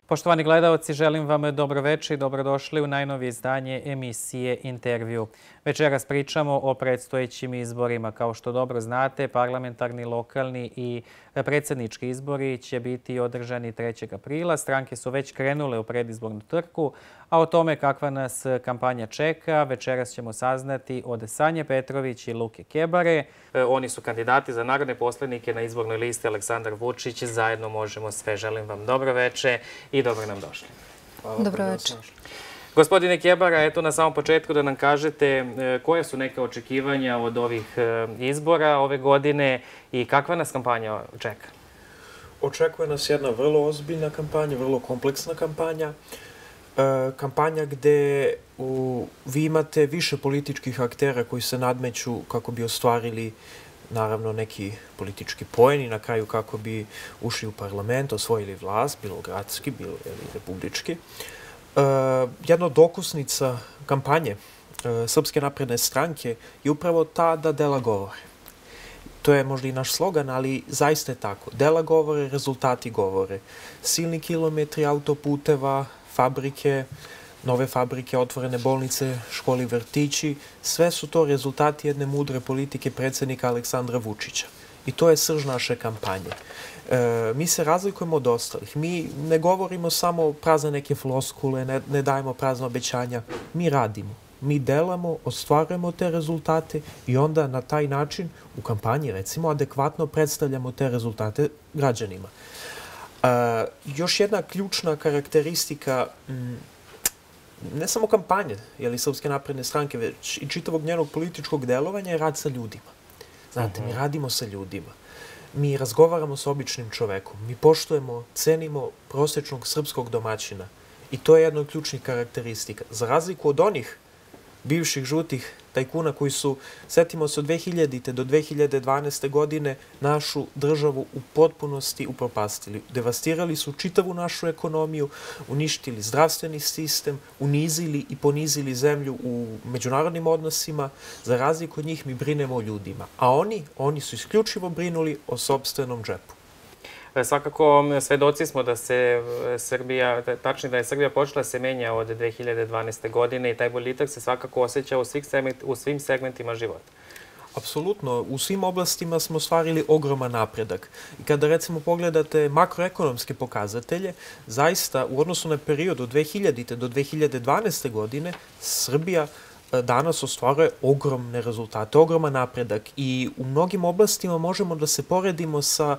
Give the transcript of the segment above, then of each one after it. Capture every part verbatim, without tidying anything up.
Poštovani gledalci, želim vam dobroveče i dobrodošli u najnovije izdanje emisije Intervju. Večeras pričamo o predstojećim izborima. Kao što dobro znate, parlamentarni, lokalni i predsjednički izbori će biti održani trećeg aprila. Stranke su već krenule u predizbornu trku, a o tome kakva nas kampanja čeka večeras ćemo saznati od Sanje Petrović i Luke Kebare. Oni su kandidati za narodne poslanike na izbornoj listi Aleksandar Vučić. Zajedno možemo sve. Želim vam dobroveče i dobro nam došli. Dobroveče. Gospodine Kebara, eto na samom početku da nam kažete koje su neke očekivanja od ovih izbora ove godine i kakva nas kampanja čeka? Očekuje nas jedna vrlo ozbiljna kampanja, vrlo kompleksna kampanja. Kampanja gde vi imate više političkih aktera koji se nadmeću kako bi ostvarili naravno neki politički poen i na kraju kako bi ušli u parlament, osvojili vlast, bilo gradski, bilo republički. Jedna od okusnica kampanje Srpske napredne stranke je upravo ta da dela govore. To je možda i naš slogan, ali zaista je tako. Dela govore, rezultati govore. Silni kilometri autoputeva, fabrike, nove fabrike, otvorene bolnice, škole i vrtići, sve su to rezultati jedne mudre politike predsjednika Aleksandra Vučića. I to je srž naše kampanje. Mi se razlikujemo od ostalih. Mi ne govorimo samo prazne neke floskule, ne dajemo prazne obećanja. Mi radimo. Mi delamo, ostvarujemo te rezultate i onda na taj način u kampanji, recimo, adekvatno predstavljamo te rezultate građanima. Još jedna ključna karakteristika ne samo kampanje, jeli Srpske napredne stranke, već i čitavog njenog političkog delovanja je rad sa ljudima. Znate, mi radimo sa ljudima. Mi razgovaramo sa običnim čovekom. Mi poštujemo, cenimo prosječnog srpskog domaćina. I to je jedna od ključnih karakteristika. Za razliku od onih bivših žutih tajkuna koji su, setimo se, od dve hiljadite do dve hiljade dvanaeste. godine našu državu u potpunosti upropastili. Devastirali su čitavu našu ekonomiju, uništili zdravstveni sistem, unizili i ponizili zemlju u međunarodnim odnosima. Za razliku od njih mi brinemo o ljudima. A oni, oni su isključivo brinuli o sopstvenom džepu. Svakako, svedoci smo da se Srbija, tačnije da je Srbija počela se menja od dve hiljade dvanaeste. godine i taj boljitak se svakako osjeća u svim segmentima života. Apsolutno. U svim oblastima smo ostvarili ogroman napredak. I kada recimo pogledate makroekonomske pokazatelje, zaista u odnosu na period od dve hiljadite. do dve hiljade dvanaeste. godine Srbija danas ostvaruje ogromne rezultate, ogroman napredak i u mnogim oblastima možemo da se poredimo sa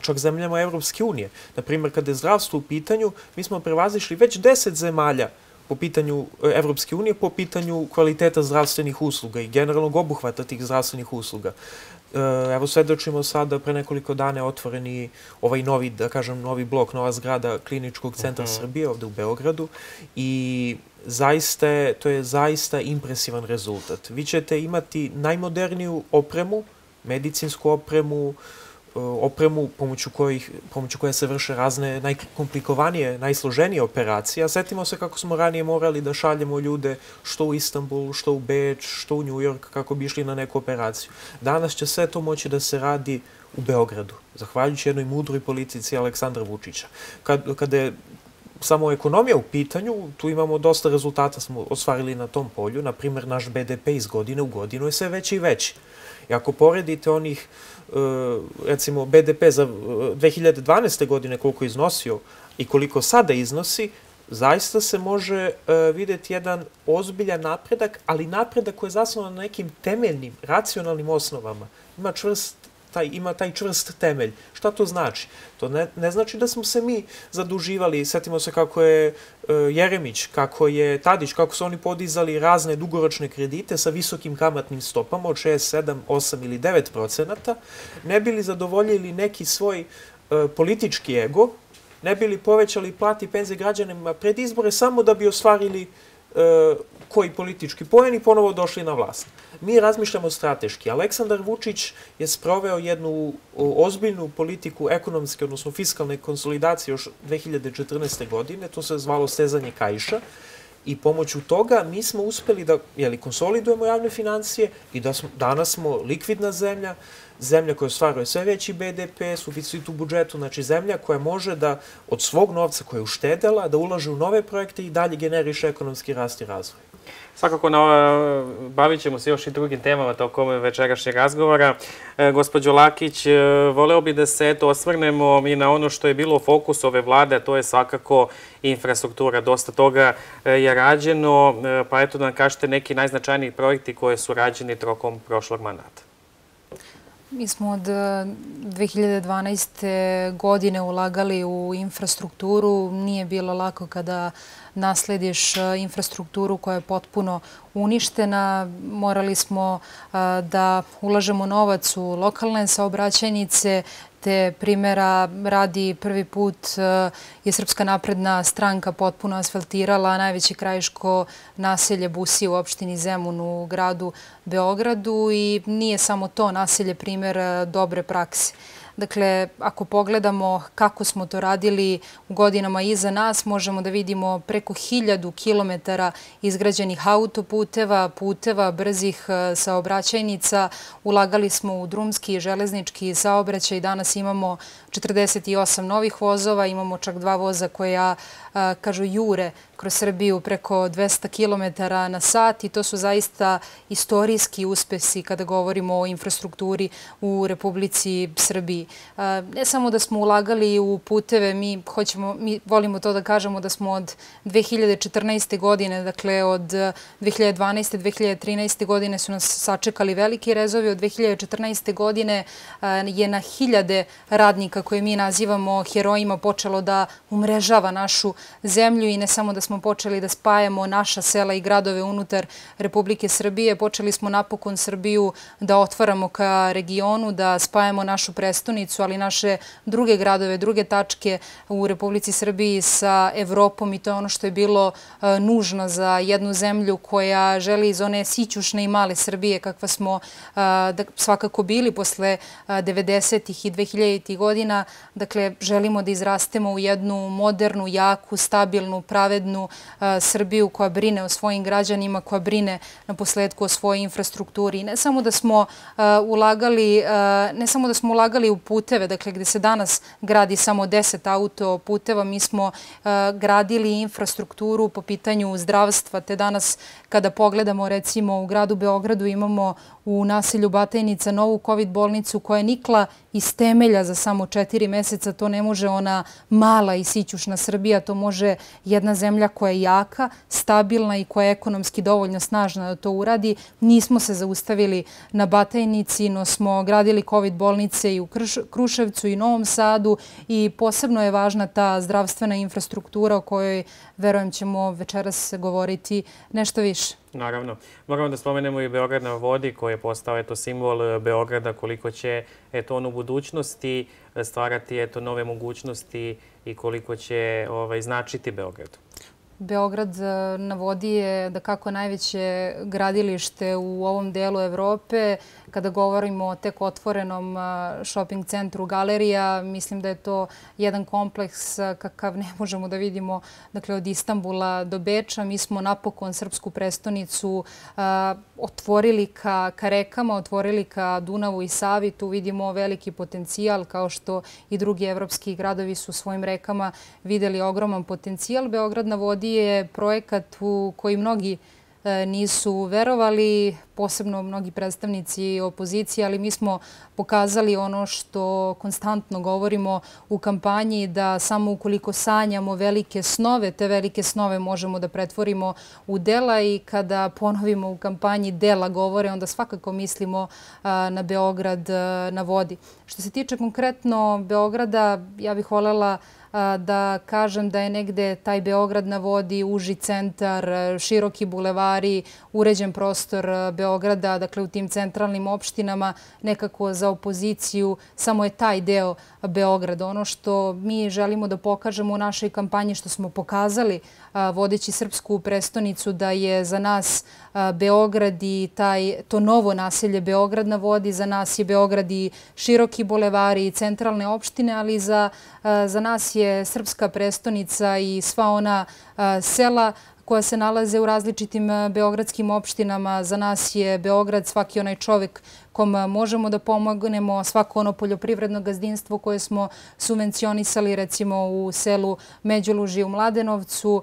čak zemljama Evropske unije. Naprimjer, kada je zdravstvo u pitanju, mi smo prevazišli već deset zemalja po pitanju Evropske unije, po pitanju kvaliteta zdravstvenih usluga i generalnog obuhvata tih zdravstvenih usluga. Evo, svedočimo sada, pre nekoliko dana je otvoreni ovaj novi, da kažem, novi blok, nova zgrada Kliničkog centra Srbije ovde u Beogradu i zaista, to je zaista impresivan rezultat. Vi ćete imati najmoderniju opremu, medicinsku opremu, opremu pomoću koje se vrše razne najkomplikovanije, najsloženije operacije. Setimo se kako smo ranije morali da šaljemo ljude što u Istanbul, što u Beč, što u New York, kako bi išli na neku operaciju. Danas će sve to moći da se radi u Beogradu, zahvaljujući jednoj mudroj politici Aleksandra Vučića. Kada je samo ekonomija u pitanju, tu imamo dosta rezultata smo ostvarili na tom polju. Naprimjer, naš be de pe iz godine u godinu je sve veći i veći. I ako poredite onih, recimo, be de pe za dve hiljade dvanaeste. godine koliko je iznosio i koliko sada iznosi, zaista se može vidjeti jedan ozbiljan napredak, ali napredak koji je zasnovan na nekim temeljnim, racionalnim osnovama. Ima čvrst ima taj čvrst temelj. Šta to znači? To ne znači da smo se mi zaduživali. Setimo se kako je Jeremić, kako je Tadić, kako su oni podizali razne dugoročne kredite sa visokim kamatnim stopama od šest, sedam, osam ili devet procenata, ne bili zadovoljili neki svoj politički ego, ne bili povećali plati i penzije građanima pred izbore samo da bi ostvarili koji politički poen i ponovo došli na vlast. Mi razmišljamo strateški. Aleksandar Vučić je sproveo jednu ozbiljnu politiku ekonomske, odnosno fiskalne konsolidacije još dve hiljade četrnaeste. godine, to se zvalo stezanje kaiša i pomoću toga mi smo uspeli da konsolidujemo javne financije i da danas smo likvidna zemlja, zemlja koja ostvaruje sve veći be de pe, suficit u budžetu, znači zemlja koja može da od svog novca koje je uštedela da ulaže u nove projekte i dalje generiše ekonomski rast i razvoj. Svakako, bavit ćemo se još i drugim temama tokom večerašnjeg razgovora. Gospođo Lakić, voleo bi da se osvrnemo i na ono što je bilo fokus ove vlade, a to je svakako infrastruktura. Dosta toga je rađeno, pa eto da nam kažete neki najznačajniji projekti koji su rađeni tokom prošlog mandata. Mi smo od dve hiljade dvanaeste. godine ulagali u infrastrukturu. Nije bilo lako kada naslediš infrastrukturu koja je potpuno uništena. Morali smo da ulažemo novac u lokalne saobraćajnice, te primjera radi prvi put je Srpska napredna stranka potpuno asfaltirala najveće krajiško naselje Busije u opštini Zemun u gradu Beogradu i nije samo to naselje primjer dobre prakse. Dakle, ako pogledamo kako smo to radili u godinama iza nas, možemo da vidimo preko hiljadu kilometara izgrađenih autoputeva, puteva, brzih saobraćajnica. Ulagali smo u drumski i železnički saobraćaj. Danas imamo četrdeset osam novih vozova, imamo čak dva voza koja, kažu, jure kroz Srbiju preko dvesta kilometara na sat i to su zaista istorijski uspesi kada govorimo o infrastrukturi u Republici Srbiji. Ne samo da smo ulagali u puteve, mi hoćemo, mi volimo to da kažemo da smo od dve hiljade četrnaeste. godine, dakle od dve hiljade dvanaeste. do dve hiljade trinaeste. godine su nas sačekali veliki rezovi. Od dve hiljade četrnaeste. godine je na hiljade radnika koje mi nazivamo herojima počelo da umrežava našu zemlju i ne samo da smo počeli da spajamo naša sela i gradove unutar Republike Srbije, počeli smo napokon Srbiju da otvaramo ka regionu, da spajamo našu prestonicu, ali naše druge gradove, druge tačke u Republici Srbiji sa Evropom i to je ono što je bilo nužno za jednu zemlju koja želi iz one sićušne i male Srbije kakva smo svakako bili posle devedesetih i dvehiljaditih godina. Dakle, želimo da izrastemo u jednu modernu, jaku, stabilnu, pravednu Srbiju koja brine o svojim građanima, koja brine na posledku o svojoj infrastrukturi. Ne samo da smo ulagali, ne samo da smo ulagali u puteve, dakle gde se danas gradi samo deset autoputeva, mi smo gradili infrastrukturu po pitanju zdravstva, te danas kada pogledamo recimo u gradu Beogradu imamo u naselju Batajnica novu kovid bolnicu koja je nikla iz temelja za samo četiri meseca. To ne može ona mala i sićušna Srbija, to može jedna zemlja koja je jaka, stabilna i koja je ekonomski dovoljno snažna da to uradi. Nismo se zaustavili na Batajnici, no smo gradili kovid bolnice i u Kruševcu i Novom Sadu i posebno je važna ta zdravstvena infrastruktura o kojoj, verujem, ćemo večeras govoriti nešto više. Naravno. Moramo da spomenemo i Beograd na vodi koji je postao eto simbol Beograda, koliko će eto on u budućnosti stvarati eto nove mogućnosti i koliko će ovaj značiti Beogradu. Beograd na vodi je da kako najveće gradilište u ovom delu Evrope. Kada govorimo o tek otvorenom shopping centru Galerija, mislim da je to jedan kompleks kakav ne možemo da vidimo, dakle, od Istanbula do Beča. Mi smo napokon srpsku prestonicu otvorili ka rekama, otvorili ka Dunavu i Savi. Tu vidimo veliki potencijal, kao što i drugi evropski gradovi su svojim rekama videli ogroman potencijal. Beograd na vodi je projekat u koji mnogi nisu verovali, posebno mnogi predstavnici opozicije, ali mi smo pokazali ono što konstantno govorimo u kampanji, da samo ukoliko sanjamo velike snove, te velike snove možemo da pretvorimo u dela i kada ponovimo u kampanji dela govore, onda svakako mislimo na Beograd na vodi. Što se tiče konkretno Beograda, ja bih voljela da kažem da je negde taj Beograd na vodi, uži centar, široki bulevari, uređen prostor Beograda, dakle u tim centralnim opštinama, nekako za opoziciju, samo je taj deo Beograda. Ono što mi želimo da pokažemo u našoj kampanji, što smo pokazali vodeći srpsku prestonicu, da je za nas Beograd i to novo naselje Beograd na vodi, za nas je Beograd i široki bulevari i centralne opštine, ali za nas je srpska prestonica i sva ona sela koja se nalaze u različitim beogradskim opštinama. Za nas je Beograd svaki onaj čovjek kom možemo da pomognemo, svako ono poljoprivredno gazdinstvo koje smo subvencionisali recimo u selu Međuluži u Mladenovcu.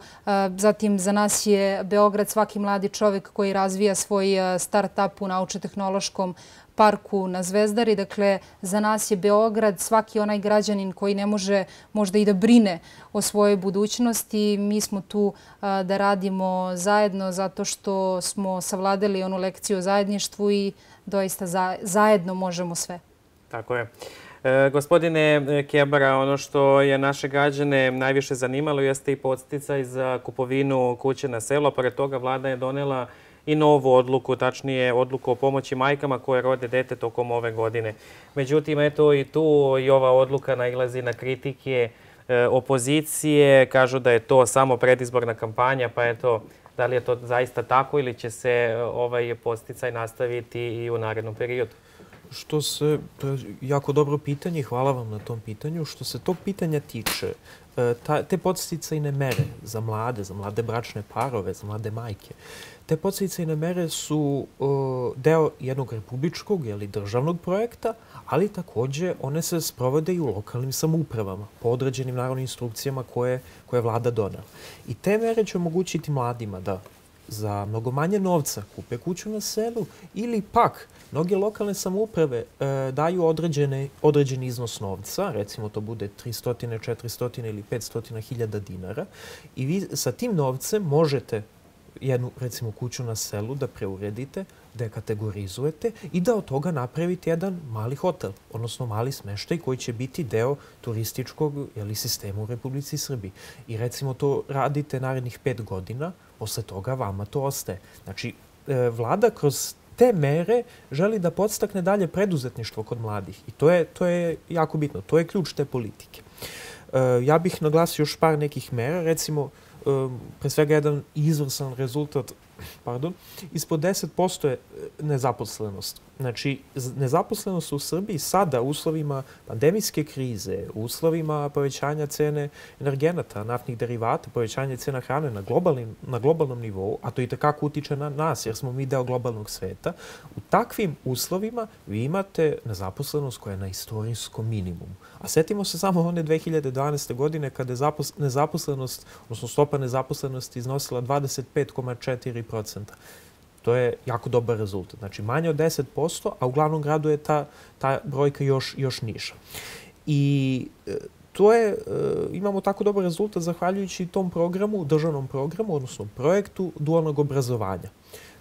Zatim za nas je Beograd svaki mladi čovjek koji razvija svoj start-up u naučno-tehnološkom parku na Zvezdari. Dakle, za nas je Beograd svaki onaj građanin koji ne može možda i da brine o svojoj budućnosti. Mi smo tu da radimo zajedno zato što smo savladali onu lekciju o zajedništvu i doista zajedno možemo sve. Tako je. Gospodine Kebara, ono što je naše građane najviše zanimalo jeste i podsticaj za kupovinu kuće na selu, a pored toga vlada je donela i novu odluku, tačnije odluku o pomoći majkama koje rode dete tokom ove godine. Međutim, eto i tu i ova odluka nailazi na kritike opozicije. Kažu da je to samo predizborna kampanja, pa eto, da li je to zaista tako ili će se ovaj podsticaj nastaviti i u narednom periodu? Što se, to je jako dobro pitanje, hvala vam na tom pitanju. Što se tog pitanja tiče, te podsticajne mere za mlade, za mlade bračne parove, za mlade majke, te podsticajne mere su deo jednog republičkog ili državnog projekta, ali takođe one se sprovode i u lokalnim samoupravama po određenim naravno instrukcijama koje je vlada donela. I te mere će omogućiti mladima da za mnogo manje novca kupe kuću na selu ili pak mnoge lokalne samouprave daju određeni iznos novca, recimo to bude tristo, četiristo ili petsto hiljada dinara i vi sa tim novcem možete jednu, recimo, kuću na selu da preuredite, da je kategorizujete i da od toga napravite jedan mali hotel, odnosno mali smeštaj koji će biti deo turističkog sistema u Republici Srbiji. I recimo to radite narednih pet godina, posle toga vama to ostaje. Znači, vlada kroz te mere želi da podstakne dalje preduzetništvo kod mladih i to je, to je jako bitno. To je ključ te politike. Ja bih naglasio još par nekih mera, recimo, pre svega jedan izvrsan rezultat, pardon, ispod deset posto je nezaposlenost. Znači, nezaposlenost u Srbiji sada u uslovima pandemijske krize, u uslovima povećanja cene energenata, naftnih derivata, povećanja cena hrane na, na globalnom nivou, a to i tekako utiče na nas jer smo mi deo globalnog sveta, u takvim uslovima vi imate nezaposlenost koja je na istorijskom minimumu. A setimo se samo one dve hiljade dvanaeste. godine kada je nezaposlenost, odnosno stopa nezaposlenosti iznosila dvadeset pet zarez četiri procenta. To je jako dobar rezultat. Znači, manje od deset posto, a u glavnom gradu je ta, ta brojka još, još niža. I to je, imamo tako dobar rezultat zahvaljujući tom programu, državnom programu, odnosno projektu dualnog obrazovanja.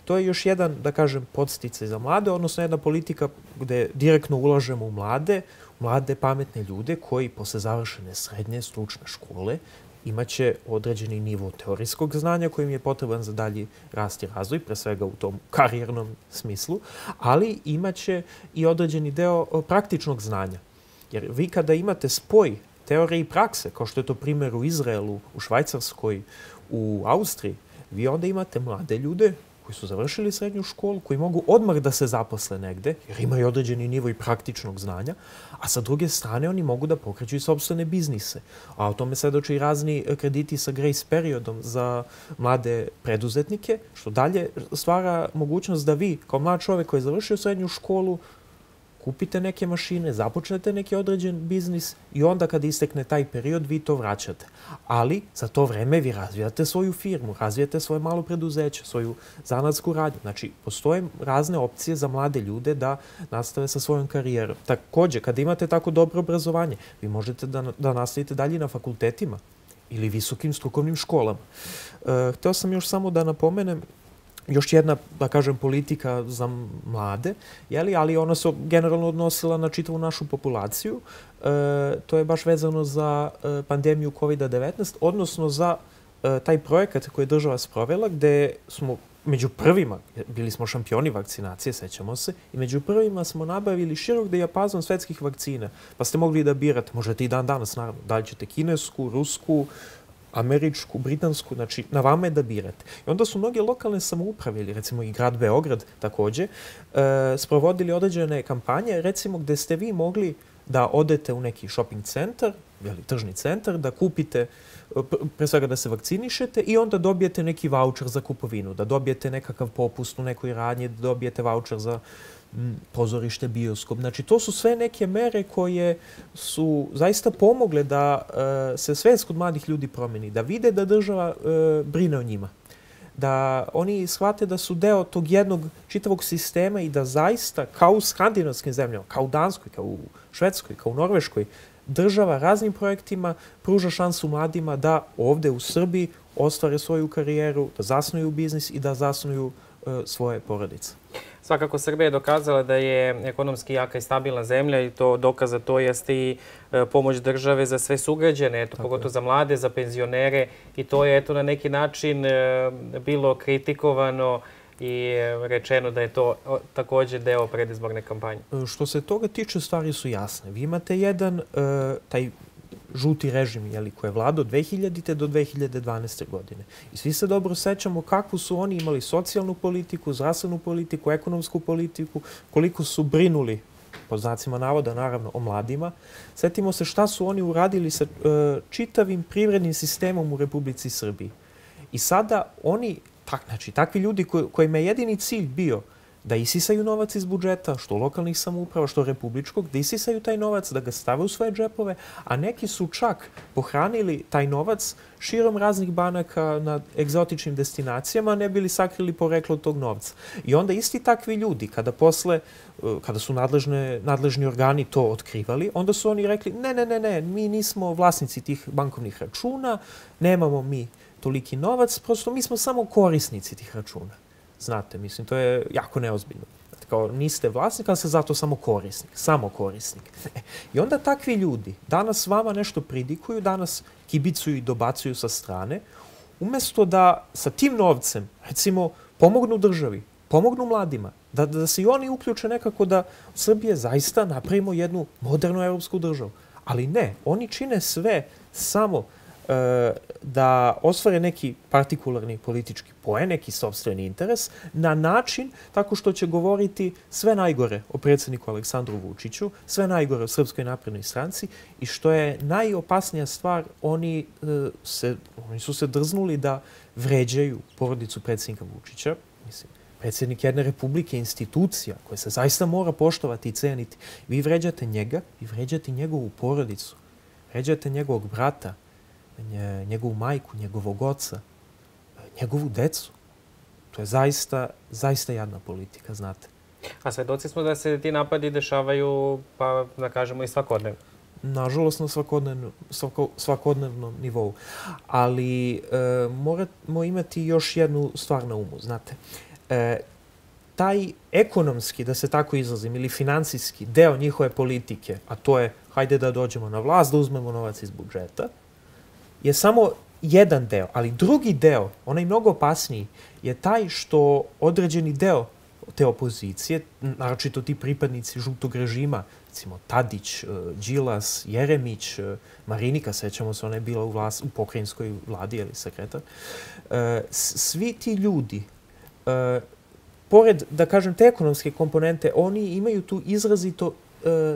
To je još jedan, da kažem, podsticaj za mlade, odnosno jedna politika gde direktno ulažemo u mlade, mlade pametne ljude koji posle završene srednje stručne škole imaće određeni nivo teorijskog znanja koji im je potreban za dalji rast i razvoj, pre svega u tom karijernom smislu, ali imaće i određeni deo praktičnog znanja. Jer vi kada imate spoj teorije i prakse, kao što je to primjer u Izraelu, u Švajcarskoj, u Austriji, vi onda imate mlade ljude koji su završili srednju školu, koji mogu odmah da se zaposle negde, jer imaju određeni nivo i praktičnog znanja, a sa druge strane oni mogu da pokreću i sopstvene biznise. A o tome svedoče i razni krediti sa grace periodom za mlade preduzetnike, što dalje stvara mogućnost da vi, kao mlad čovek koji je završio srednju školu, kupite neke mašine, započnete neki određen biznis i onda kad istekne taj period vi to vraćate. Ali za to vreme vi razvijate svoju firmu, razvijate svoje malo preduzeće, svoju zanatsku radnju. Znači, postoje razne opcije za mlade ljude da nastave sa svojom karijerom. Takođe, kada imate tako dobro obrazovanje, vi možete da, da nastavite dalje na fakultetima ili visokim strukovnim školama. E, hteo sam još samo da napomenem još jedna, da kažem, politika za mlade, jeli, ali ona se generalno odnosila na čitavu našu populaciju. E, to je baš vezano za e, pandemiju kovid devetnaest, odnosno za e, taj projekat koji je država sprovela, gde smo među prvima, bili smo šampioni vakcinacije, sećamo se, i među prvima smo nabavili širok dijapazon svetskih vakcina, pa ste mogli da birate, možete i dan danas, naravno, da li ćete kinesku, rusku, američku, britansku, znači na vama je da birate. I onda su mnoge lokalne samouprave, ili recimo i grad Beograd takođe, e, sprovodili određene kampanje, recimo gde ste vi mogli da odete u neki shopping centar, ili tržni centar, da kupite, pre svega da se vakcinišete i onda dobijete neki vaučer za kupovinu, da dobijete nekakav popust u nekoj radnji, da dobijete vaučer za pozorište, bioskop. Znači, to su sve neke mere koje su zaista pomogle da se svest kod mladih ljudi promeni, da vide da država brine o njima, da oni shvate da su deo tog jednog čitavog sistema i da zaista, kao u skandinavskim zemljama, kao u Danskoj, kao u Švedskoj, kao u Norveškoj, država raznim projektima pruža šansu mladima da ovde u Srbiji ostvare svoju karijeru, da zasnuju biznis i da zasnuju svoje porodice. Svakako, Srbija je dokazala da je ekonomski jaka i stabilna zemlja i to dokaza to jeste i pomoć države za sve sugrađane, pogotovo za mlade, za penzionere i to je eto na neki način bilo kritikovano i rečeno da je to također deo predizborne kampanje. Što se toga tiče, stvari su jasne. Vi imate jedan, taj žuti režim koji je vladao od dve hiljadite do dve hiljade dvanaeste. godine. I svi se dobro sećamo kakvu su oni imali socijalnu politiku, zdravstvenu politiku, ekonomsku politiku, koliko su brinuli, po znacima navoda naravno, o mladima. Setimo se šta su oni uradili sa čitavim privrednim sistemom u Republici Srbiji. I sada oni, znači takvi ljudi kojima je jedini cilj bio da isisaju novac iz budžeta, što lokalnih samouprava, što republičkog, da isisaju taj novac, da ga stave u svoje džepove, a neki su čak pohranili taj novac širom raznih banaka na egzotičnim destinacijama, ne bili sakrili poreklo tog novca. I onda isti takvi ljudi, kada posle, kada su nadležni organi to otkrivali, onda su oni rekli, ne, ne, ne, ne, mi nismo vlasnici tih bankovnih računa, nemamo mi toliki novac, prosto mi smo samo korisnici tih računa. Znate, mislim, to je jako neozbiljno. Kao, niste vlasnik, ali ste zato samo korisnik. Samo korisnik. I onda takvi ljudi danas vama nešto pridikuju, danas kibicuju i dobacuju sa strane, umjesto da sa tim novcem, recimo, pomognu državi, pomognu mladima, da se i oni uključe nekako da Srbije zaista napravimo jednu modernu evropsku državu. Ali ne, oni čine sve samo da ostvare neki partikularni politički poen, neki sopstveni interes, na način tako što će govoriti sve najgore o predsjedniku Aleksandru Vučiću, sve najgore o Srpskoj naprednoj stranci i što je najopasnija stvar, oni su se drznuli da vređaju porodicu predsjednika Vučića. Mislim, predsjednik jedne republike, institucija koja se zaista mora poštovati i ceniti. Vi vređate njega, vi vređate njegovu porodicu, vređate njegovog brata, njegovu majku, njegovog oca, njegovu decu. To je zaista, zaista jadna politika, znate. A svedoci smo da se ti napadi dešavaju, pa da kažemo, i svakodnevno. Nažalost, na svakodnevnom nivou. Ali moramo imati još jednu stvar na umu, znate. Taj ekonomski, da se tako izrazim, ili finansijski deo njihove politike, a to je hajde da dođemo na vlast, da uzmemo novac iz budžeta, je samo jedan deo, ali drugi deo, onaj mnogo opasniji, je taj što određeni deo te opozicije, naročito ti pripadnici žutog režima, recimo Tadić, Đilas, Jeremić, Marinika, sećamo se, ona je bila u pokrajinskoj vladi, ili sekretar, svi ti ljudi, pored, da kažem, te ekonomske komponente, oni imaju tu izrazito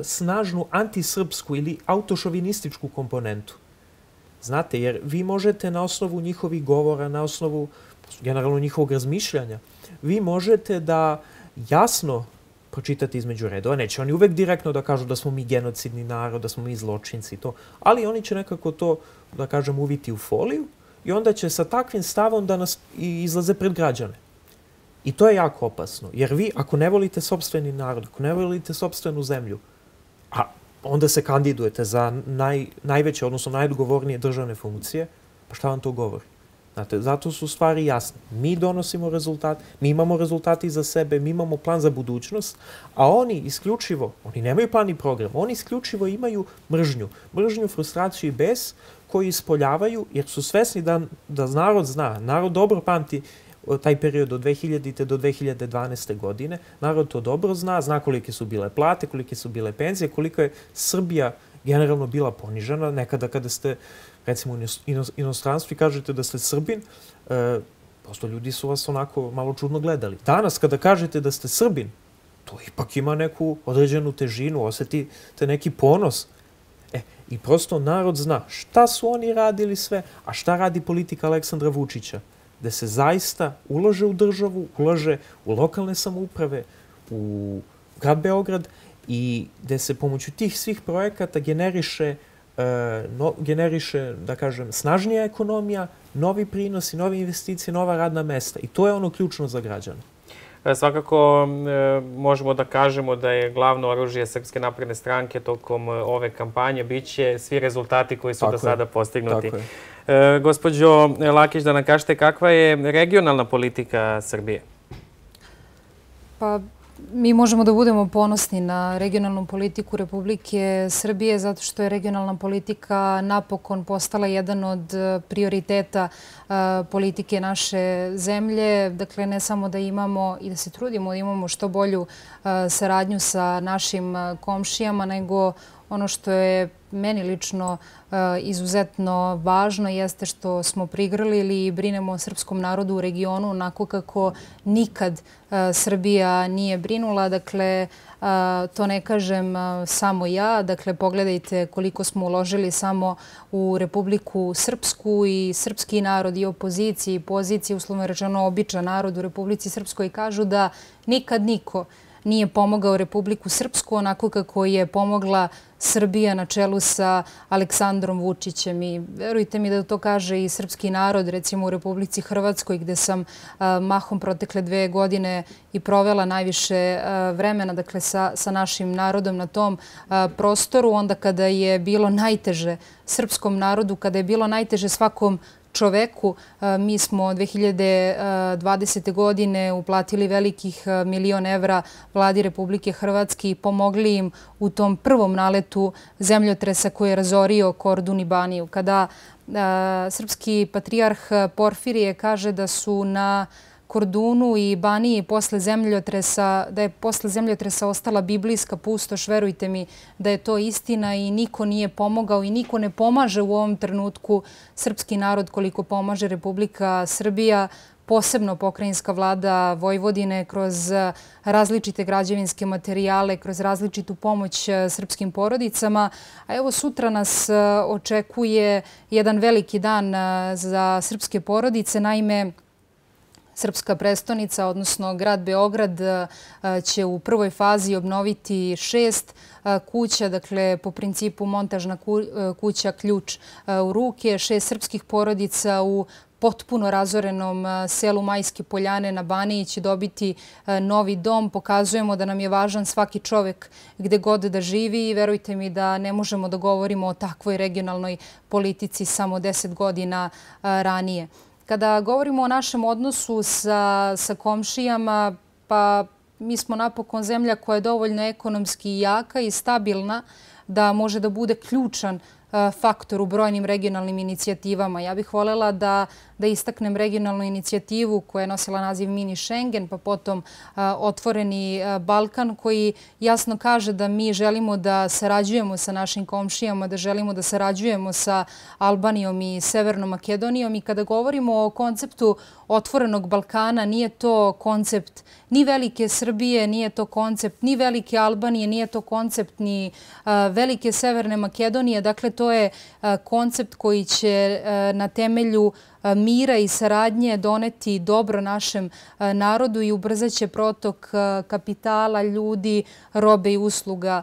snažnu antisrpsku ili autošovinističku komponentu. Znate, jer vi možete na osnovu njihovih govora, na osnovu generalno njihovog razmišljanja, vi možete da jasno pročitate između redova. Neće oni uvek direktno da kažu da smo mi genocidni narod, da smo mi zločinci i to, ali oni će nekako to, da kažem, uviti u foliju i onda će sa takvim stavom da nas izlaze pred građane. I to je jako opasno, jer vi ako ne volite sopstveni narod, ako ne volite sopstvenu zemlju, a onda se kandidujete za najveće, odnosno najodgovornije državne funkcije, pa šta vam to govori? Znate, zato su stvari jasne. Mi donosimo rezultat, mi imamo rezultati za sebe, mi imamo plan za budućnost, a oni isključivo, oni nemaju plan i program, oni isključivo imaju mržnju. Mržnju, frustraciju i bes koji ispoljavaju, jer su svesni da narod zna, narod dobro pamti taj period od dve hiljadite do dve hiljade dvanaeste. godine. Narod to dobro zna, zna kolike su bile plate, kolike su bile penzije, koliko je Srbija generalno bila ponižena. Nekada kada ste, recimo, u inostranstvu i kažete da ste Srbin, prosto ljudi su vas onako malo čudno gledali. Danas kada kažete da ste Srbin, to ipak ima neku određenu težinu, osetite neki ponos. E, i prosto narod zna šta su oni radili sve, a šta radi politika Aleksandra Vučića, gde se zaista ulaže u državu, ulaže u lokalne samouprave, u grad Beograd i gde se pomoću tih svih projekata generiše, generiše, da kažem, snažnija ekonomija, novi prinosi, nove investicije, nova radna mesta. I to je ono ključno za građane. Svakako možemo da kažemo da je glavno oružje Srpske napredne stranke tokom ove kampanje biće svi rezultati koji su do sada postignuti. Gospođo Lakić, da nam kažete kakva je regionalna politika Srbije? Pa, mi možemo da budemo ponosni na regionalnu politiku Republike Srbije zato što je regionalna politika napokon postala jedan od prioriteta politike naše zemlje. Dakle, ne samo da imamo i da se trudimo da imamo što bolju saradnju sa našim komšijama, nego ono što je meni lično izuzetno važno jeste što smo prigrlili i brinemo o srpskom narodu u regionu onako kako nikad Srbija nije brinula. Dakle, to ne kažem samo ja. Dakle, pogledajte koliko smo uložili samo u Republiku Srpsku i srpski narod i opoziciji i poziciji, uslovno rečeno običan narod u Republici Srpskoj, kažu da nikad niko nije pomogao Republiku Srpsku onako kako je pomogla Srbija na čelu sa Aleksandrom Vučićem. I verujte mi da to kaže i srpski narod, recimo u Republici Hrvatskoj, gde sam mahom protekle dve godine i provela najviše vremena, dakle, sa, sa našim narodom na tom prostoru, onda kada je bilo najteže srpskom narodu, kada je bilo najteže svakom čoveku. Mi smo dve hiljade dvadesete. godine uplatili velikih milion evra vladi Republike Hrvatske i pomogli im u tom prvom naletu zemljotresa koji je razorio Kordun i Baniju. Kada srpski patrijarh Porfirije kaže da su na Kordunu i Baniji posle zemljotresa, da je posle zemljotresa ostala biblijska pustoš, verujte mi da je to istina i niko nije pomogao i niko ne pomaže u ovom trenutku srpski narod koliko pomaže Republika Srbija, posebno pokrajinska vlada Vojvodine kroz različite građevinske materijale, kroz različitu pomoć srpskim porodicama. A evo sutra nas očekuje jedan veliki dan za srpske porodice. Naime, srpska prestonica, odnosno grad Beograd, će u prvoj fazi obnoviti šest kuća, dakle po principu montažna kuća ključ u ruke, šest srpskih porodica u potpuno razorenom selu Majske Poljane na Baniji će dobiti novi dom. Pokazujemo da nam je važan svaki čovek gde god da živi i verujte mi da ne možemo da govorimo o takvoj regionalnoj politici samo deset godina ranije. Kada govorimo o našem odnosu sa, sa komšijama, pa mi smo napokon zemlja koja je dovoljno ekonomski jaka i stabilna da može da bude ključan faktor u brojnim regionalnim inicijativama. Ja bih voljela da, da istaknem regionalnu inicijativu koja je nosila naziv Mini Schengen, pa potom a, Otvoreni a, Balkan, koji jasno kaže da mi želimo da sarađujemo sa našim komšijama, da želimo da sarađujemo sa Albanijom i Severnom Makedonijom. I kada govorimo o konceptu Otvorenog Balkana, nije to koncept ni velike Srbije, nije to koncept ni velike Albanije, nije to koncept ni a, velike Severne Makedonije. Dakle, to je a, koncept koji će a, na temelju mira i saradnje doneti dobro našem narodu i ubrzaće protok kapitala, ljudi, robe i usluga.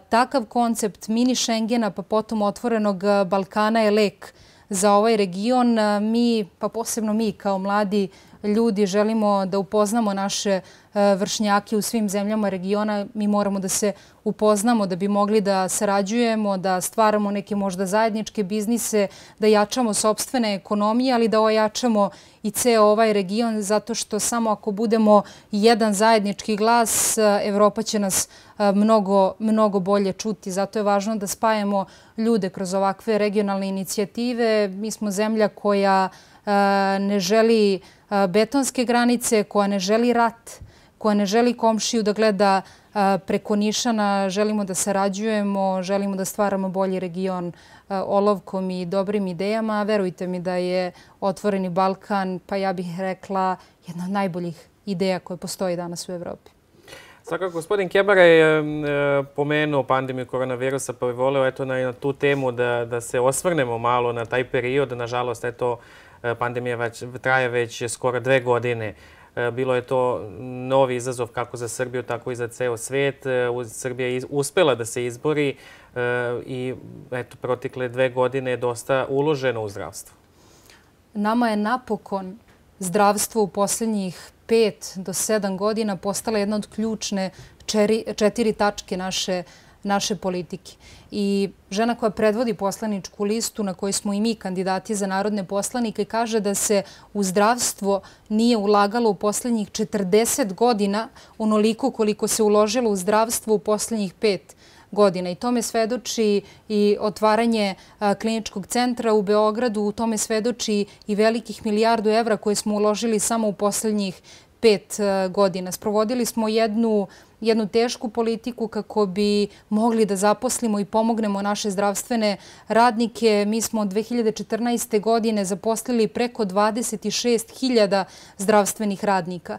Takav koncept mini Schengena, pa potom Otvorenog Balkana je lek za ovaj region. Mi, pa posebno mi kao mladi ljudi, želimo da upoznamo naše vršnjake u svim zemljama regiona. Mi moramo da se upoznamo da bi mogli da sarađujemo, da stvaramo neke možda zajedničke biznise, da jačamo sopstvene ekonomije, ali da ojačamo i ceo ovaj region, zato što samo ako budemo jedan zajednički glas, Evropa će nas mnogo, mnogo bolje čuti. Zato je važno da spajamo ljude kroz ovakve regionalne inicijative. Mi smo zemlja koja ne želi betonske granice, koja ne želi rat, koja ne želi komšiju da gleda preko nišana. Želimo da sarađujemo, želimo da stvaramo bolji region olovkom i dobrim idejama. Verujte mi da je Otvoreni Balkan, pa ja bih rekla, jedna od najboljih ideja koje postoji danas u Evropi. Svakako, gospodin Kebara je pomenuo pandemiju koronavirusa, pa bi voleo eto na tu temu da se osvrnemo malo na taj period. Nažalost, eto, pandemija traje već skoro dve godine. Bilo je to novi izazov kako za Srbiju, tako i za ceo svet. Srbija je uspela da se izbori i eto, protekle dve godine je dosta uloženo u zdravstvo. Nama je napokon zdravstvo u posljednjih pet do sedam godina postala jedna od ključne četiri tačke naše naše politike. I žena koja predvodi poslaničku listu na kojoj smo i mi kandidati za narodne poslanike kaže da se u zdravstvo nije ulagalo u posljednjih četrdeset godina onoliko koliko se uložilo u zdravstvo u posljednjih pet godina. I tome svedoči i otvaranje kliničkog centra u Beogradu, u tome svedoči i velikih milijardu evra koje smo uložili samo u posljednjih pet godina. Sprovodili smo jednu jednu tešku politiku kako bi mogli da zaposlimo i pomognemo naše zdravstvene radnike. Mi smo od dve hiljade četrnaeste. godine zaposlili preko dvadeset šest hiljada zdravstvenih radnika.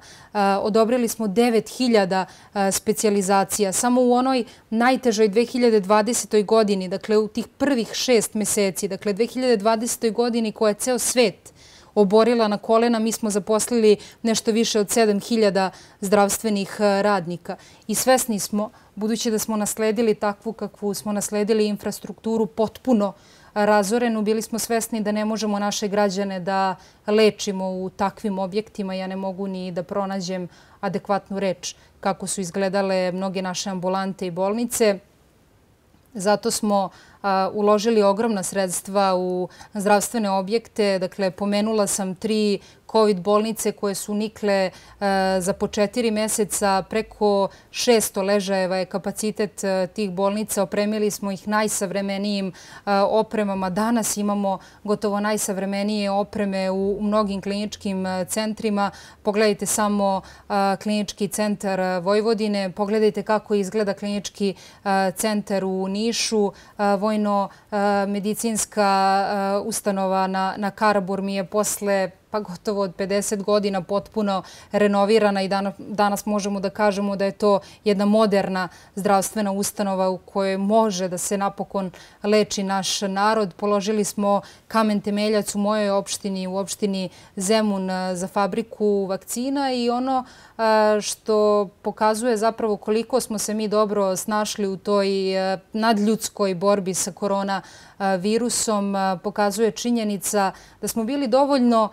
Odobrili smo devet hiljada specijalizacija. Samo u onoj najtežoj dve hiljade dvadesetoj. godini, dakle u tih prvih šest meseci, dakle dve hiljade dvadesetoj. godini koja je ceo svet oborila na kolena, mi smo zaposlili nešto više od sedam hiljada zdravstvenih radnika. I svesni smo, budući da smo nasledili takvu kakvu smo nasledili infrastrukturu potpuno razorenu, bili smo svesni da ne možemo naše građane da lečimo u takvim objektima. Ja ne mogu ni da pronađem adekvatnu reč kako su izgledale mnoge naše ambulante i bolnice. Zato smo uložili ogromna sredstva u zdravstvene objekte. Dakle, pomenula sam tri COVID bolnice koje su nikle za po četiri meseca. Preko šesto ležajeva je kapacitet tih bolnica. Opremili smo ih najsavremenijim opremama. Danas imamo gotovo najsavremenije opreme u mnogim kliničkim centrima. Pogledajte samo klinički centar Vojvodine. Pogledajte kako izgleda klinički centar u Nišu. Vojno-medicinska ustanova na Karaburmi je posle pa gotovo od pedeset godina potpuno renovirana i danas možemo da kažemo da je to jedna moderna zdravstvena ustanova u kojoj može da se napokon leči naš narod. Položili smo kamen temeljac u mojoj opštini, u opštini Zemun za fabriku vakcina i ono što pokazuje zapravo koliko smo se mi dobro snašli u toj nadljudskoj borbi sa koronavirusom, pokazuje činjenica da smo bili dovoljno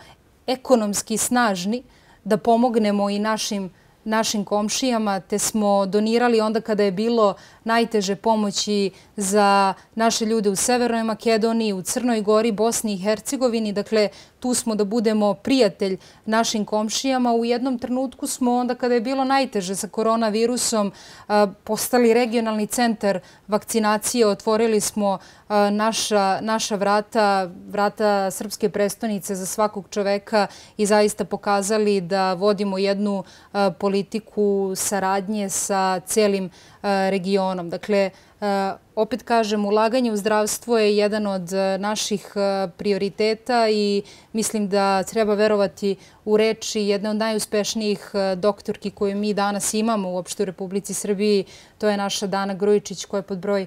ekonomski snažni da pomognemo i našim našim komšijama, te smo donirali onda kada je bilo najteže pomoći za naše ljude u Severnoj Makedoniji, u Crnoj Gori, Bosni i Hercegovini. Dakle, tu smo da budemo prijatelj našim komšijama. U jednom trenutku smo onda kada je bilo najteže sa koronavirusom postali regionalni centar vakcinacije. Otvorili smo naša, naša vrata, vrata srpske prestonice za svakog čoveka i zaista pokazali da vodimo jednu politiku saradnje sa celim regionom. Dakle, opet kažem, ulaganje u zdravstvo je jedan od naših prioriteta i mislim da treba verovati u reči jedne od najuspešnijih doktorki koju mi danas imamo uopšte u Republici Srbiji. To je naša Dana Grujičić koja je pod broj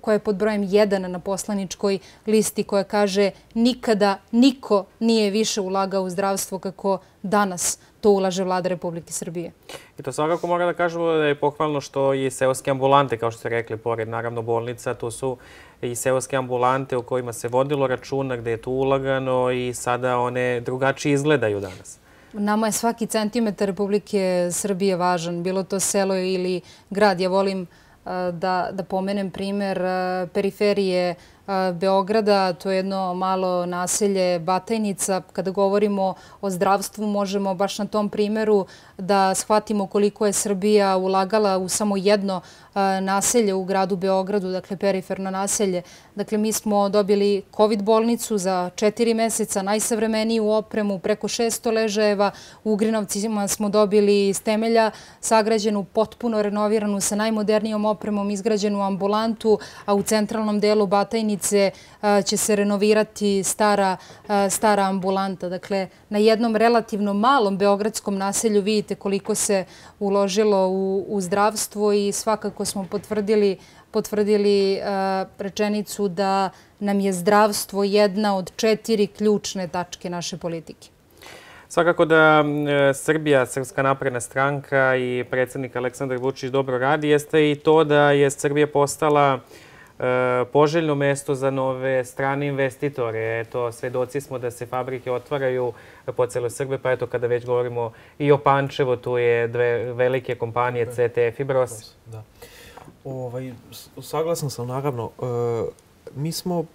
koja je pod brojem jedan na poslaničkoj listi, koja kaže nikada niko nije više ulagao u zdravstvo kako danas to ulaže Vlada Republike Srbije. I to svakako mora da kažemo da je pohvalno što i seoske ambulante, kao što ste rekli, pored naravno bolnica, to su i seoske ambulante o kojima se vodilo računa, gde je tu ulagano i sada one drugačije izgledaju danas. Nama je svaki centimetar Republike Srbije važan, bilo to selo ili grad. Ja volim da, da pomenem primer periferije Beograda, to je jedno malo naselje Batajnica. Kada govorimo o zdravstvu, možemo baš na tom primeru da shvatimo koliko je Srbija ulagala u samo jedno naselje u gradu Beogradu, dakle periferno naselje. Dakle, mi smo dobili COVID bolnicu za četiri meseca, najsavremeniju opremu, preko šesto ležajeva. U Ugrinovcima smo dobili iz temelja sagrađenu, potpuno renoviranu, sa najmodernijom opremom izgrađenu ambulantu, a u centralnom delu Batajnice bolnice, će se renovirati stara, stara ambulanta. Dakle, na jednom relativno malom beogradskom naselju vidite koliko se uložilo u, u zdravstvo i svakako smo potvrdili, potvrdili rečenicu da nam je zdravstvo jedna od četiri ključne tačke naše politike. Svakako da Srbija, Srpska napredna stranka i predsjednik Aleksandar Vučić dobro radi, jeste i to da je Srbija postala poželjno mesto za nove strane investitore. Eto, svedoci smo da se fabrike otvaraju po celoj Srbiji, pa eto, kada već govorimo i o Pančevu, tu je dve velike kompanije C T F i Bros. Da. Ovaj, saglasan sam, naravno. Mi smo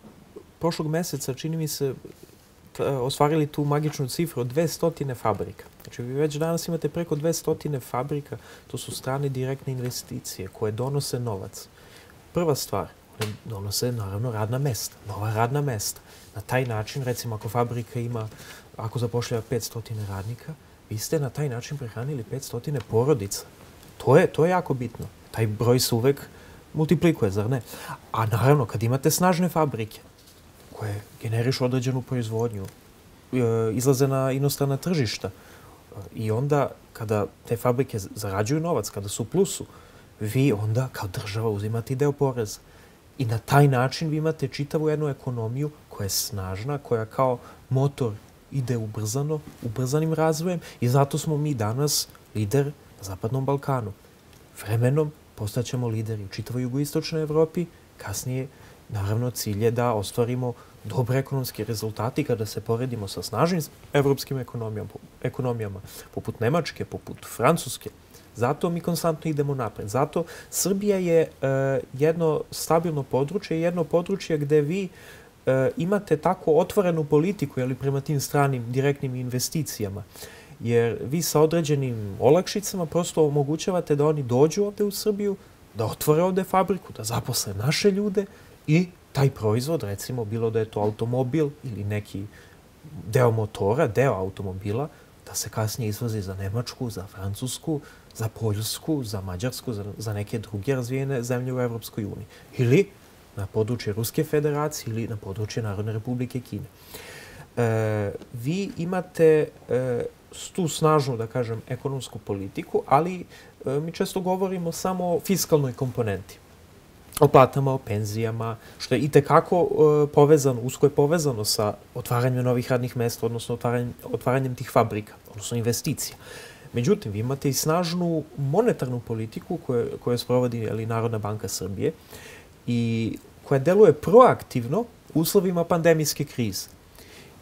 prošlog meseca, čini mi se, ostvarili tu magičnu cifru od dvesta fabrika. Znači, vi već danas imate preko dvesta fabrika, to su strane direktne investicije koje donose novac. Prva stvar, donose naravno radna mesta, nova radna mesta. Na taj način, recimo, ako fabrika ima, ako zapošljava petsto radnika, vi ste na taj način prehranili petsto porodica. To je, to je jako bitno. Taj broj se uvek multiplikuje, zar ne? A naravno, kad imate snažne fabrike, koje generišu određenu proizvodnju, izlaze na inostrana tržišta i onda kada te fabrike zarađuju novac, kada su u plusu, vi onda kao država uzimate deo poreza. I na taj način vi imate čitavu jednu ekonomiju koja je snažna, koja kao motor ide ubrzano, ubrzanim razvojem i zato smo mi danas lider na Zapadnom Balkanu. Vremenom postaćemo lideri u čitavoj jugoistočnoj Evropi, kasnije naravno cilj je da ostvarimo dobre ekonomske rezultate kada se poredimo sa snažnim evropskim ekonomijama, poput Nemačke, poput Francuske. Zato mi konstantno idemo napred. Zato Srbija je jedno stabilno područje, jedno područje gde vi imate tako otvorenu politiku prema tim stranim direktnim investicijama. Jer vi sa određenim olakšicama prosto omogućavate da oni dođu ovde u Srbiju, da otvore ovde fabriku, da zaposle naše ljude i taj proizvod, recimo, bilo da je to automobil ili neki deo motora, deo automobila, da se kasnije izvozi za Nemačku, za Francusku, za Poljsku, za Mađarsku, za neke druge razvijene zemlje u Evropskoj uniji. Ili na područje Ruske federacije ili na područje Narodne republike Kine. Vi imate tu snažnu, da kažem, ekonomsku politiku, ali mi često govorimo samo o fiskalnoj komponenti. O platama, o penzijama, što je itekako povezano, usko je povezano sa otvaranjem novih radnih mesta, odnosno otvaranjem tih fabrika, odnosno investicija. Međutim, vi imate i snažnu monetarnu politiku koju sprovodi Narodna banka Srbije i koja deluje proaktivno u uslovima pandemijske krize.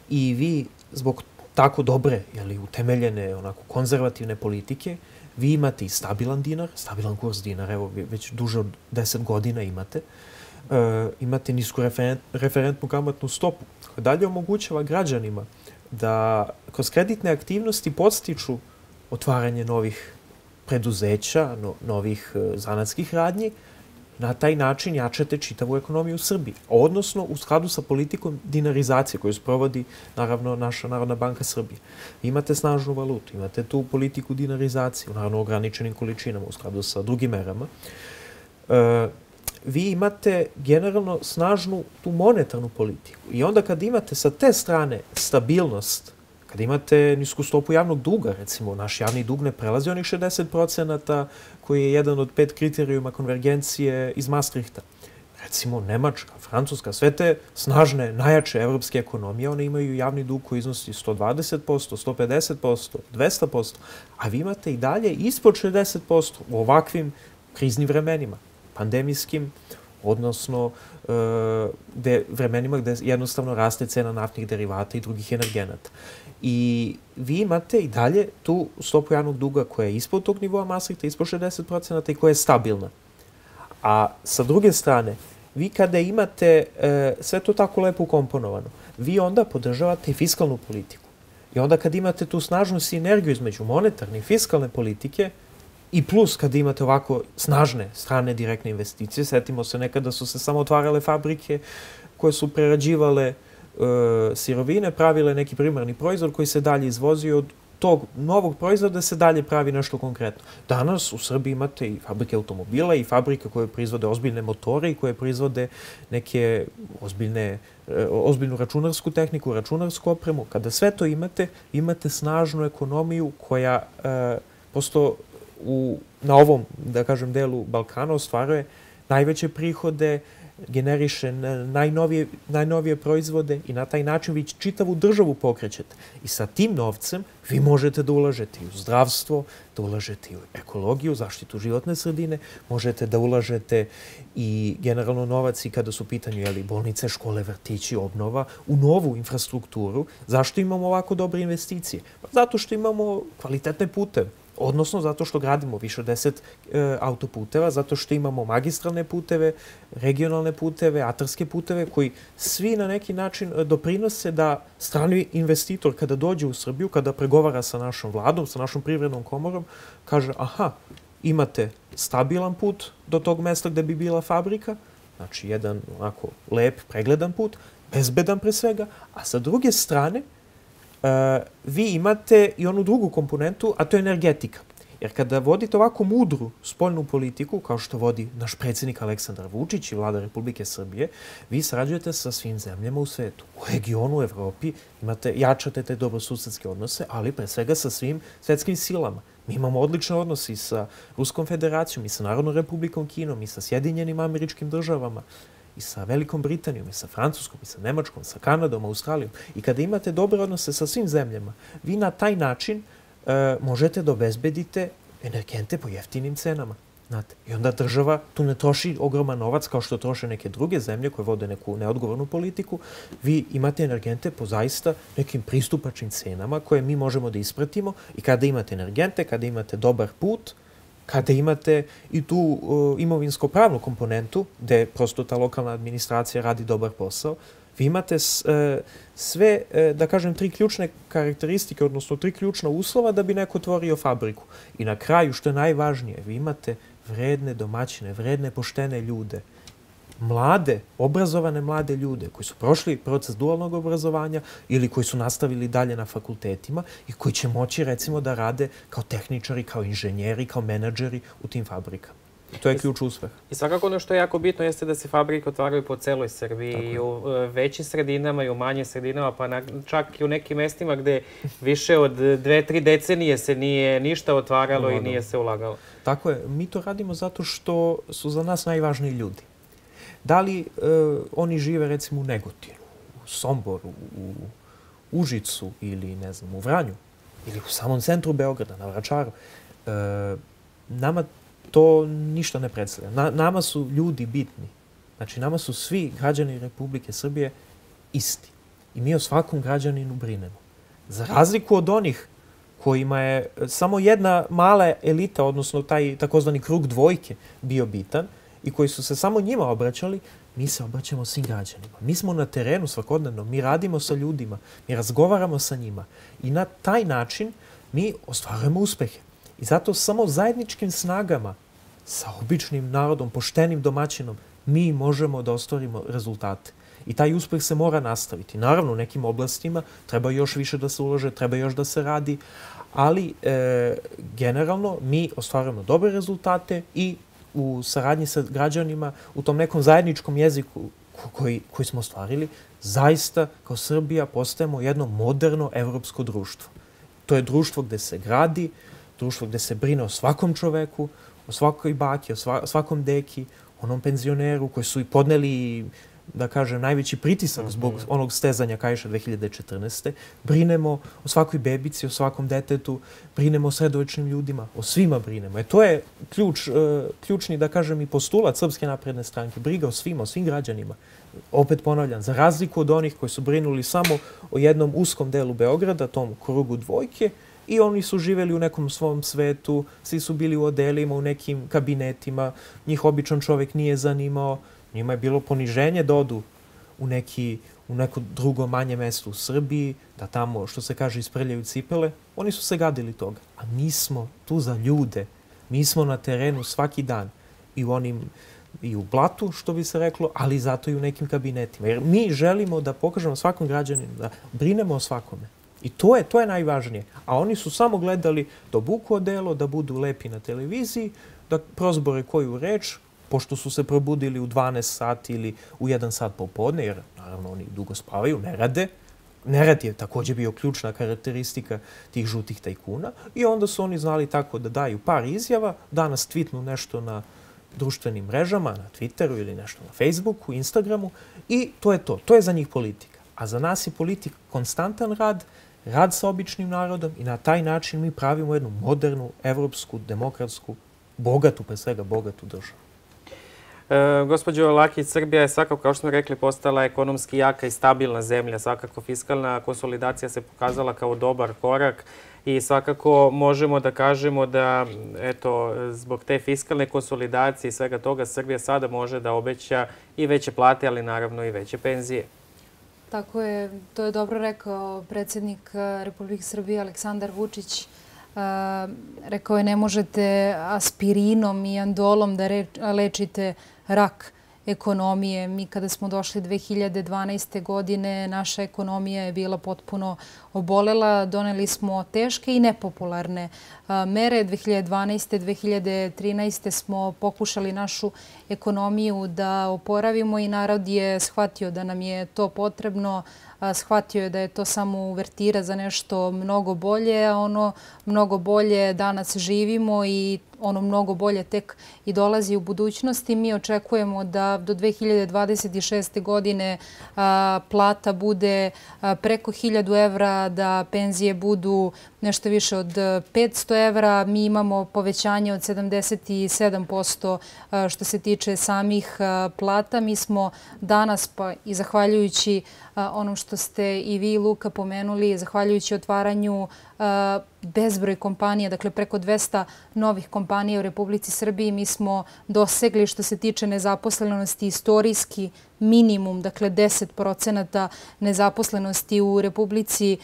I vi, zbog tako dobre, utemeljene, onako konzervativne politike, vi imate i stabilan dinar, stabilan kurs dinara, evo već duže od deset godina imate. Imate nisku referentnu kamatnu stopu, koja dalje omogućava građanima da kroz kreditne aktivnosti podstiču otvaranje novih preduzeća, novih zanatskih radnji. Na taj način jačate čitavu ekonomiju u Srbiji. Odnosno, u skladu sa politikom dinarizacije koju sprovodi, naravno, naša Narodna banka Srbije. Imate snažnu valutu, imate tu politiku dinarizacije, naravno, u ograničenim količinama, u skladu sa drugim merama. Vi imate generalno snažnu tu monetarnu politiku. I onda kad imate sa te strane stabilnost, kad imate nisku stopu javnog duga, recimo, naš javni dug ne prelazi onih šezdeset procenata koji je jedan od pet kriterijuma konvergencije iz Maastrichta. Recimo, Nemačka, Francuska, sve te snažne, najjače evropske ekonomije, one imaju javni dug koji iznosi sto dvadeset posto, sto pedeset posto, dvesta posto, a vi imate i dalje ispod šezdeset posto u ovakvim kriznim vremenima, pandemijskim, odnosno vremenima gde jednostavno raste cena naftnih derivata i drugih energenata. I vi imate i dalje tu stopu javnog duga koja je ispod tog nivoa Maastrichta, ispod šezdeset procenata i koja je stabilna. A sa druge strane, vi kada imate sve to tako lepo ukomponovano, vi onda podržavate i fiskalnu politiku. I onda kad imate tu snažnu sinergiju između monetarne i fiskalne politike, i plus kad imate ovako snažne strane direktne investicije, setimo se nekada su se samo otvarale fabrike koje su prerađivale sirovine, pravile neki primarni proizvod koji se dalje izvozio od tog novog proizvoda se dalje pravi nešto konkretno. Danas u Srbiji imate i fabrike automobila i fabrike koje proizvode ozbiljne motore i koje proizvode neke ozbiljne, ozbiljnu računarsku tehniku, računarsku opremu. Kada sve to imate, imate snažnu ekonomiju koja e, prosto u, na ovom, da kažem, delu Balkana ostvaruje najveće prihode, generiše najnovije, najnovije proizvode i na taj način vi čitavu državu pokrećete. I sa tim novcem vi možete da ulažete i u zdravstvo, da ulažete i u ekologiju, zaštitu životne sredine, možete da ulažete i generalno novac i kada su u pitanju jeli, bolnice, škole, vrtići, obnova, u novu infrastrukturu. Zašto imamo ovako dobre investicije? Zato što imamo kvalitetne puteve. Odnosno, zato što gradimo više od deset e, autoputeva, zato što imamo magistralne puteve, regionalne puteve, atarske puteve, koji svi na neki način doprinose da strani investitor kada dođe u Srbiju, kada pregovara sa našom vladom, sa našom privrednom komorom, kaže, aha, imate stabilan put do tog mesta gde bi bila fabrika, znači jedan onako lep, pregledan put, bezbedan pre svega, a sa druge strane, Uh, vi imate i onu drugu komponentu, a to je energetika. Jer kada vodite ovako mudru spoljnu politiku, kao što vodi naš predsjednik Aleksandar Vučić i vlada Republike Srbije, vi sarađujete sa svim zemljama u svetu. U regionu, u Evropi, imate, jačate te dobrosusedske odnose, ali pre svega sa svim svetskim silama. Mi imamo odlične odnose i sa Ruskom federacijom, i sa Narodnom republikom Kinom, i sa Sjedinjenim Američkim državama, i sa Velikom Britanijom, i sa Francuskom, i sa Nemačkom, sa Kanadom, Australijom. I kada imate dobre odnose sa svim zemljama, vi na taj način e, možete da obezbedite energente po jeftinim cenama. Znate? I onda država tu ne troši ogroman novac kao što troše neke druge zemlje koje vode neku neodgovornu politiku. Vi imate energente po zaista nekim pristupačnim cenama koje mi možemo da ispratimo i kada imate energente, kada imate dobar put, kada imate i tu uh, imovinsko-pravnu komponentu, gde prosto ta lokalna administracija radi dobar posao, vi imate s, uh, sve, uh, da kažem, tri ključne karakteristike, odnosno tri ključna uslova da bi neko otvorio fabriku. I na kraju, što je najvažnije, vi imate vredne domaćine, vredne, poštene ljude, mlade, obrazovane mlade ljude koji su prošli proces dualnog obrazovanja ili koji su nastavili dalje na fakultetima i koji će moći, recimo, da rade kao tehničari, kao inženjeri, kao menadžeri u tim fabrikama. To je ključ uspeha. I svakako ono što je jako bitno jeste da se fabrike otvaraju po celoj Srbiji i u većim sredinama i u manjim sredinama, pa na, čak i u nekim mestima gde više od dve, tri decenije se nije ništa otvaralo no, i nije se ulagalo. Tako je. Mi to radimo zato što su za nas najvažniji ljudi. Da li e, oni žive, recimo, u Negotinu, u Somboru, u Užicu ili, ne znam, u Vranju ili u samom centru Beograda, na Vračaru, e, nama to ništa ne predstavlja. Na, nama su ljudi bitni. Znači, nama su svi građani Republike Srbije isti. I mi o svakom građaninu brinemo. Za razliku od onih kojima je samo jedna mala elita, odnosno taj takozvani krug dvojke bio bitan, i koji su se samo njima obraćali, mi se obraćamo svim građanima. Mi smo na terenu svakodnevno, mi radimo sa ljudima, mi razgovaramo sa njima i na taj način mi ostvarujemo uspehe. I zato samo zajedničkim snagama, sa običnim narodom, poštenim domaćinom, mi možemo da ostvarimo rezultate. I taj uspeh se mora nastaviti. Naravno, u nekim oblastima treba još više da se ulože, treba još da se radi, ali e, generalno mi ostvarujemo dobre rezultate i u saradnji sa građanima, u tom nekom zajedničkom jeziku koji, koji smo ostvarili, zaista kao Srbija postajemo jedno moderno evropsko društvo. To je društvo gde se gradi, društvo gde se brine o svakom čoveku, o svakoj baki, o sva, svakom deki, onom penzioneru koji su i podneli, da kažem, najveći pritisak zbog onog stezanja Kaiša dve hiljade četrnaeste. Brinemo o svakoj bebici, o svakom detetu, brinemo o sredovečnim ljudima, o svima brinemo. E to je ključ, uh, ključni, da kažem, i postulat Srpske napredne stranke. Briga o svima, o svim građanima. Opet ponavljam, za razliku od onih koji su brinuli samo o jednom uskom delu Beograda, tom krugu dvojke, i oni su živeli u nekom svom svetu, svi su bili u odelima, u nekim kabinetima, njih običan čovek nije zanimao. Njima je bilo poniženje da odu u, neki, u neko drugo manje mesto u Srbiji, da tamo, što se kaže, isprljaju cipele. Oni su se gadili toga. A mi smo tu za ljude. Mi smo na terenu svaki dan. I u onim, i u blatu, što bi se reklo, ali zato i u nekim kabinetima. Jer mi želimo da pokažemo svakom građaninu, da brinemo o svakome. I to je, to je najvažnije. A oni su samo gledali da obuku odelo, da budu lepi na televiziji, da prozbore koju reč, pošto su se probudili u dvanaest sati ili u jedan sat popodne, jer naravno oni dugo spavaju, ne rade. Nerad je također bio ključna karakteristika tih žutih tajkuna i onda su oni znali tako da daju par izjava, danas tweetnu nešto na društvenim mrežama, na Twitteru ili nešto na Facebooku, Instagramu i to je to. To je za njih politika. A za nas je politika konstantan rad, rad sa običnim narodom i na taj način mi pravimo jednu modernu, evropsku, demokratsku, bogatu, pre svega bogatu državu. E, gospođo Lakić, Srbija je svakako, kao što smo rekli, postala ekonomski jaka i stabilna zemlja. Svakako fiskalna konsolidacija se pokazala kao dobar korak i svakako možemo da kažemo da eto, zbog te fiskalne konsolidacije i svega toga Srbija sada može da obeća i veće plate, ali naravno i veće penzije. Tako je, to je dobro rekao predsjednik Republike Srbije Aleksandar Vučić. Rekao je ne možete aspirinom i andolom da lečite rak ekonomije. Mi kada smo došli dve hiljade dvanaeste. godine, naša ekonomija je bila potpuno obolela. Doneli smo teške i nepopularne mere. dve hiljade dvanaeste. dve hiljade trinaeste. smo pokušali našu ekonomiju da oporavimo i narod je shvatio da nam je to potrebno. Shvatio je da je to samo uvertira za nešto mnogo bolje, a ono mnogo bolje danas živimo i ono mnogo bolje tek i dolazi u budućnosti. Mi očekujemo da do dve hiljade dvadeset šeste. godine plata bude preko hiljadu evra, da penzije budu nešto više od petsto evra. Mi imamo povećanje od sedamdeset sedam posto što se tiče samih plata. Mi smo danas, pa i zahvaljujući onom što ste i vi, Luka, pomenuli, zahvaljujući otvaranju bezbroj kompanija, dakle preko dvesta novih kompanija u Republici Srbiji, mi smo dosegli što se tiče nezaposlenosti istorijski minimum, dakle deset procenata nezaposlenosti u Republici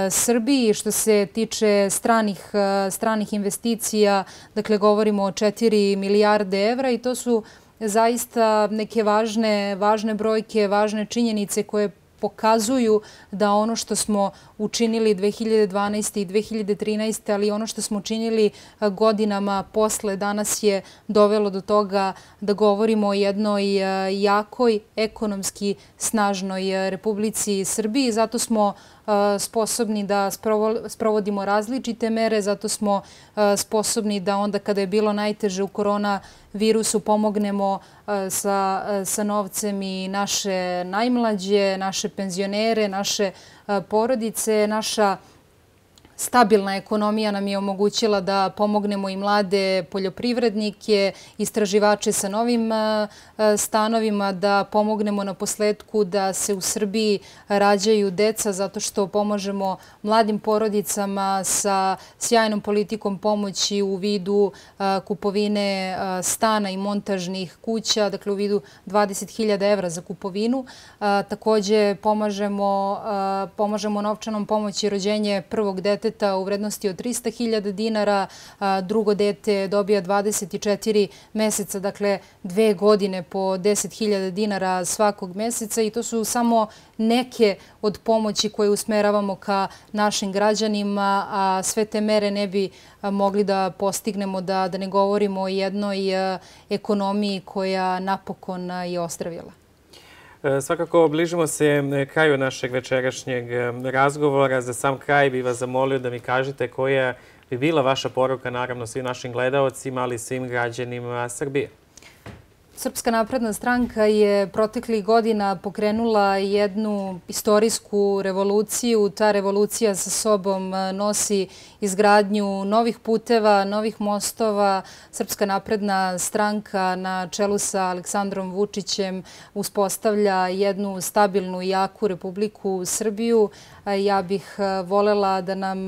Srbiji. Što se tiče stranih, stranih investicija, dakle govorimo o četiri milijarde evra i to su zaista neke važne, važne brojke, važne činjenice koje pokazuju da ono što smo učinili dve hiljade dvanaeste. i dve hiljade trinaeste. ali ono što smo učinili godinama posle danas je dovelo do toga da govorimo o jednoj jakoj, ekonomski snažnoj Republici Srbiji. Zato smo sposobni da sprovodimo različite mere, zato smo sposobni da onda kada je bilo najteže u korona virusu pomognemo sa, sa novcem i naše najmlađe, naše penzionere, naše porodice. Naša stabilna ekonomija nam je omogućila da pomognemo i mlade poljoprivrednike, istraživače sa novim stanovima, da pomognemo na posledku da se u Srbiji rađaju deca zato što pomažemo mladim porodicama sa sjajnom politikom pomoći u vidu kupovine stana i montažnih kuća, dakle u vidu dvadeset hiljada evra za kupovinu. Također pomažemo, pomažemo novčanom pomoći rođenje prvog deteta u vrednosti od trista hiljada dinara, drugo dete dobija dvadeset četiri meseca, dakle dve godine po deset hiljada dinara svakog meseca i to su samo neke od pomoći koje usmeravamo ka našim građanima, a sve te mere ne bi mogli da postignemo da, da ne govorimo o jednoj ekonomiji koja napokon je ozdravila. Svakako, bližimo se kraju našeg večerašnjeg razgovora. Za sam kraj bih vas zamolio da mi kažete koja bi bila vaša poruka, naravno, svim našim gledaocima, ali i svim građanima Srbije. Srpska napredna stranka je proteklih godina pokrenula jednu istorijsku revoluciju. Ta revolucija sa sobom nosi izgradnju novih puteva, novih mostova. Srpska napredna stranka na čelu sa Aleksandrom Vučićem uspostavlja jednu stabilnu i jaku Republiku Srbiju. Ja bih volela da nam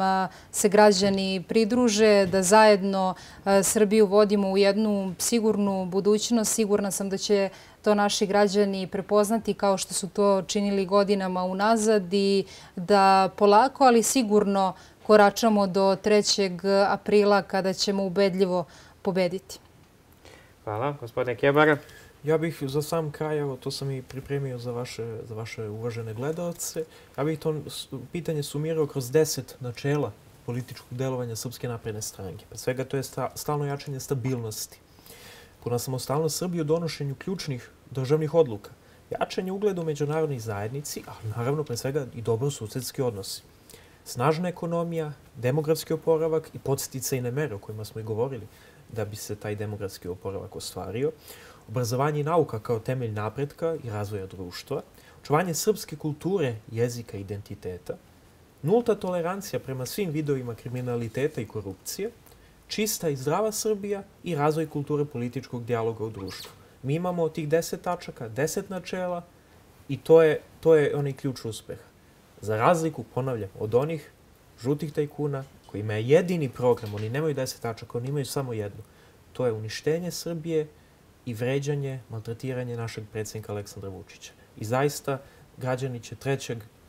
se građani pridruže, da zajedno Srbiju vodimo u jednu sigurnu budućnost. Sigurna sam da će to naši građani prepoznati kao što su to činili godinama unazad i da polako, ali sigurno koračamo do trećeg aprila kada ćemo ubedljivo pobediti. Hvala. Gospodine Kebara. Ja bih za sam kraj, evo, to sam i pripremio za vaše, za vaše uvažene gledalce, ja bih to pitanje sumirao kroz deset načela političkog delovanja Srpske napredne stranke. Pre svega to je stalno jačanje stabilnosti, puna samostalnost Srbije u donošenju ključnih državnih odluka, jačanje ugleda u međunarodnoj zajednici, a naravno pre svega i dobrosusedski odnosi. Snažna ekonomija, demografski oporavak i podsticajne mere o kojima smo i govorili da bi se taj demografski oporavak ostvario, obrazovanje i nauka kao temelj napretka i razvoja društva, očuvanje srpske kulture, jezika i identiteta, nulta tolerancija prema svim vidovima kriminaliteta i korupcije, čista i zdrava Srbija i razvoj kulture političkog dijaloga u društvu. Mi imamo tih deset tačaka, deset načela i to je, to je onaj ključ uspeha. Za razliku, ponavljam, od onih žutih tajkuna kojima je jedini program, oni nemaju deset tačaka, oni imaju samo jednu. To je uništenje Srbije i vređanje, maltretiranje našeg predsjednika Aleksandra Vučića. I zaista, građani će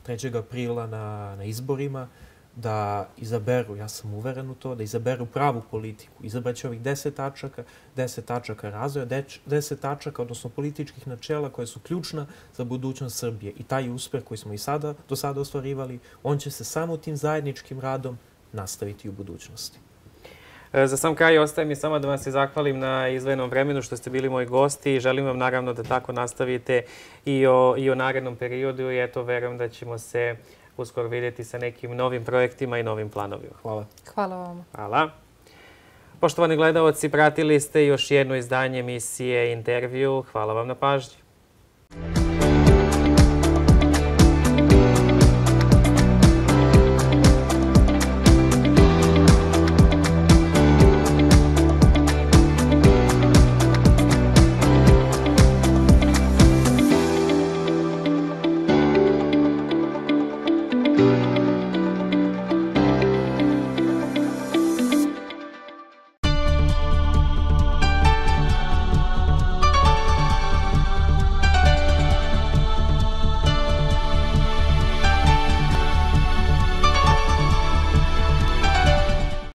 trećeg aprila na, na izborima da izaberu, ja sam uveren u to, da izaberu pravu politiku. Izabraće ovih deset tačaka, deset tačaka razvoja, deset tačaka, odnosno političkih načela koje su ključna za budućnost Srbije. I taj uspeh koji smo i sada, do sada ostvarivali, on će se samo tim zajedničkim radom nastaviti u budućnosti. Za sam kraj ostaje mi samo da vam se zahvalim na izdvojenom vremenu što ste bili moji gosti i želim vam naravno da tako nastavite i o, i o narednom periodu i eto, verujem da ćemo se uskoro vidjeti sa nekim novim projektima i novim planovima. Hvala. Hvala vam. Hvala. Poštovani gledalci, pratili ste još jedno izdanje emisije Intervju. Hvala vam na pažnji.